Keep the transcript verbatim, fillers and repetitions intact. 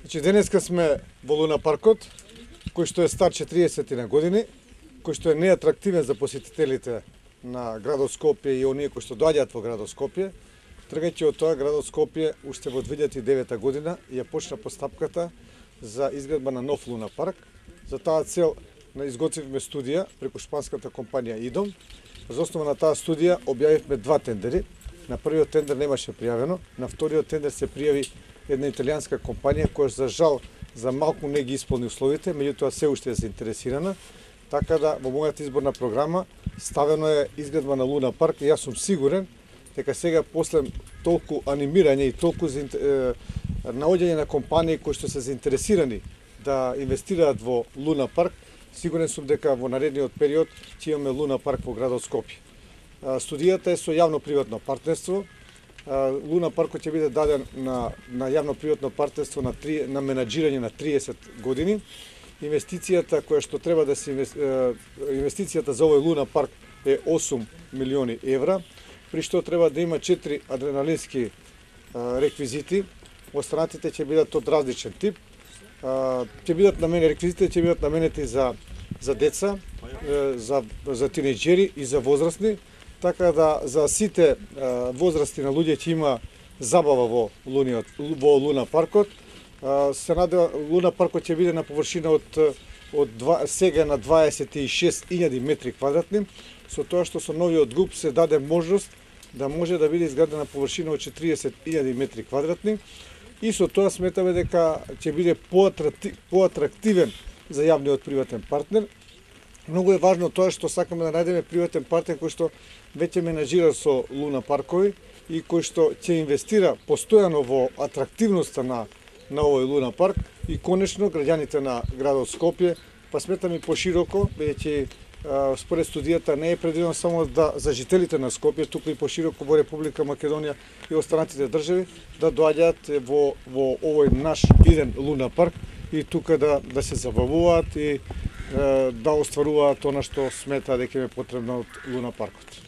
Значи, денеска сме во Луна паркот, кој што е стар четириесет на години, кој што е неатрактивен за посетителите на градот Скопје и оние кои што доаѓаат во градот Скопје. Тргајќи од тоа, градот Скопје уште во две илјади и девета година ја почна постапката за изградба на нов Луна парк. За таа цел изготвивме студија преку шпанската компанија ИДОМ. За основа на таа студија објавивме два тендери. На првиот тендер немаше пријавено, на вториот тендер се пријави една италијанска компанија која за жал за малку не ги исполни условите, меѓутоа се уште е заинтересирана. Така да во мојата изборна програма ставено е изградба на Луна парк и јас сум сигурен дека сега после толку анимирање и толку наоѓање на компании кои што се заинтересирани да инвестираат во Луна парк, сигурен сум дека во наредниот период ќе имаме Луна парк во градот Скопје. Студијата е со јавно-приватно партнерство. Луна паркот ќе биде даден на, на јавно-приватно партнерство на, три, на менаџирање на триесет години. Инвестицијата која што треба да се инвестицијата за овој Луна парк е осум милиони евра, при што треба да има четири адреналински реквизити. Останатите ќе бидат од различен тип. Ќе бидат наменети реквизитите ќе бидат наменети за за деца, за за тинејџери и за возрастни, така да за сите возрасти на луѓе ќе има забава во луниот во Луна паркот. Се надева Луна паркот ќе биде на површина од од два, сега на дваесет и шест илјади метри квадратни, со тоа што со новиот ГУП се даде можност да може да биде изградена површина од четириесет илјади метри квадратни и со тоа сметаме дека ќе биде поатрактивен за јавниот приватен партнер. Многу е важно тоа што сакаме да најдеме приватен партнер кој што веќе менаџира со Луна паркови и кој што ќе инвестира постојано во атрактивноста на на овој Луна парк и конечно граѓаните на градот Скопје, па сметам и пошироко, бидејќи според студијата не е предвидено само да за жителите на Скопје, туку и пошироко во Република Македонија и останатите држави да доаѓаат во во овој наш иден Луна парк и тука да да се забавуваат и да остваруваат она што смета дека е потребно од Луна паркот.